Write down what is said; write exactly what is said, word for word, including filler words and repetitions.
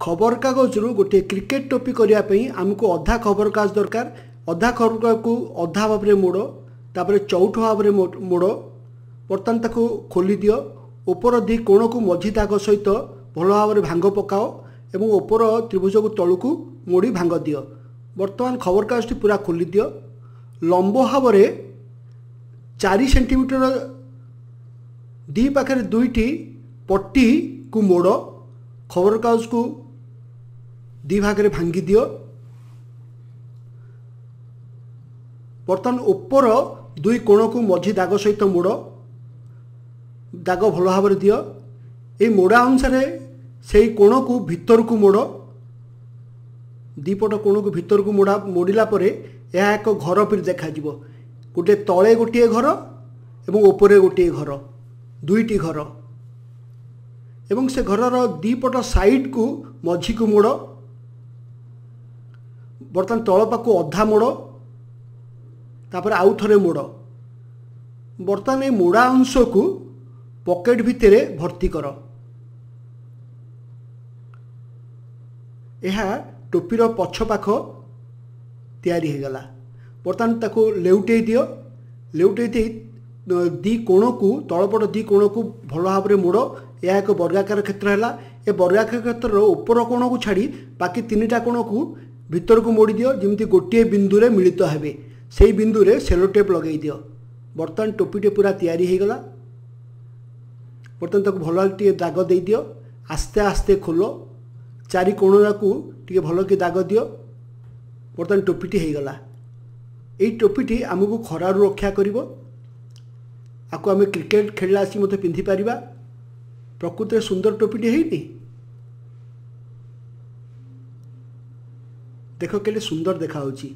ଖବରକାଗଜରୁ ଗୋଟିଏ କ୍ରିକେଟ ଟୋପି କରିବା ପାଇଁ ଆମକୁ ଅଧା ଖବରକାଗଜ ଦରକାର। ଅଧା ଖବରକାଗଜକୁ ଅଧା ଭାବରେ ମୋଡ଼, ତାପରେ ଚଉଠ ଭାବରେ ମୋଡ଼। ବର୍ତ୍ତମାନ ତାକୁ ଖୋଲି ଦିଅ। ଉପର ଦୁଇ କୋଣକୁ ମଝି ଦାଗ ସହିତ ଭଲ ଭାବରେ ଭାଙ୍ଗ ପକାଅ ଏବଂ ଉପର ତ୍ରିଭୁଜକୁ ତଳକୁ ମୋଡ଼ି ଭାଙ୍ଗ ଦିଅ। ବର୍ତ୍ତମାନ ଖବରକାଗଜଟି ପୁରା ଖୋଲି ଦିଅ। ଲମ୍ବ ଭାବରେ ଚାରି ସେଣ୍ଟିମିଟର ଦୁଇ ପାଖରେ ଦୁଇଟି ପଟିକୁ ମୋଡ଼। ଖବରକାଗଜକୁ ଦୁଇ ଭାଗରେ ଭାଙ୍ଗି ଦିଅ। ବର୍ତ୍ତମାନ ଉପର ଦୁଇ କୋଣକୁ ମଝି ଦାଗ ସହିତ ମୋଡ଼, ଦାଗ ଭଲ ଭାବରେ ଦିଅ। ଏଇ ମୋଡ଼ା ଅନୁସାରେ ସେଇ କୋଣକୁ ଭିତରକୁ ମୋଡ଼। ଦୁଇପଟ କୋଣକୁ ଭିତରକୁ ମୋଡ଼ା ମୋଡ଼ିଲା ପରେ ଏହା ଏକ ଘର ପରି ଦେଖାଯିବ। ଗୋଟିଏ ତଳେ ଗୋଟିଏ ଘର ଏବଂ ଉପରେ ଗୋଟିଏ ଘର, ଦୁଇଟି ଘର। ଏବଂ ସେ ଘରର ଦୁଇପଟ ସାଇଡ଼କୁ ମଝିକୁ ମୋଡ଼। ବର୍ତ୍ତମାନ ତଳ ପାଖକୁ ଅଧା ମୋଡ଼, ତାପରେ ଆଉ ଥରେ ମୋଡ଼। ବର୍ତ୍ତମାନ ଏଇ ମୋଡ଼ା ଅଂଶକୁ ପକେଟ ଭିତରେ ଭର୍ତ୍ତି କର। ଏହା ଟୋପିର ପଛ ପାଖ ତିଆରି ହୋଇଗଲା। ବର୍ତ୍ତମାନ ତାକୁ ଲେଉଟେଇ ଦିଅ। ଲେଉଟେଇ ଦେଇ ଦୁଇ କୋଣକୁ, ତଳପଟ ଦୁଇ କୋଣକୁ ଭଲ ଭାବରେ ମୋଡ଼। ଏହା ଏକ ବର୍ଗାକାର କ୍ଷେତ୍ର ହେଲା। ଏ ବର୍ଗାକାର କ୍ଷେତ୍ରର ଉପର କୋଣକୁ ଛାଡ଼ି ବାକି ତିନିଟା କୋଣକୁ ଭିତରକୁ ମୋଡ଼ି ଦିଅ, ଯେମିତି ଗୋଟିଏ ବିନ୍ଦୁରେ ମିଳିତ ହେବେ। ସେଇ ବିନ୍ଦୁରେ ସେଲୋ ଟେପ୍ ଲଗାଇ ଦିଅ। ବର୍ତ୍ତମାନ ଟୋପିଟି ପୁରା ତିଆରି ହୋଇଗଲା। ବର୍ତ୍ତମାନ ତାକୁ ଭଲ ଟିକେ ଦାଗ ଦେଇଦିଅ। ଆସ୍ତେ ଆସ୍ତେ ଖୋଲ, ଚାରି କୋଣକୁ ଟିକେ ଭଲକି ଦାଗ ଦିଅ। ବର୍ତ୍ତମାନ ଟୋପିଟି ହୋଇଗଲା। ଏଇ ଟୋପିଟି ଆମକୁ ଖରାରୁ ରକ୍ଷା କରିବ। ଆକୁ ଆମେ କ୍ରିକେଟ ଖେଳିଲା ଆସିକି ମଧ୍ୟ ପିନ୍ଧିପାରିବା। ପ୍ରକୃତରେ ସୁନ୍ଦର ଟୋପିଟି ହେଇନି? ଦେଖ କେତେ ସୁନ୍ଦର ଦେଖାହେଉଛି।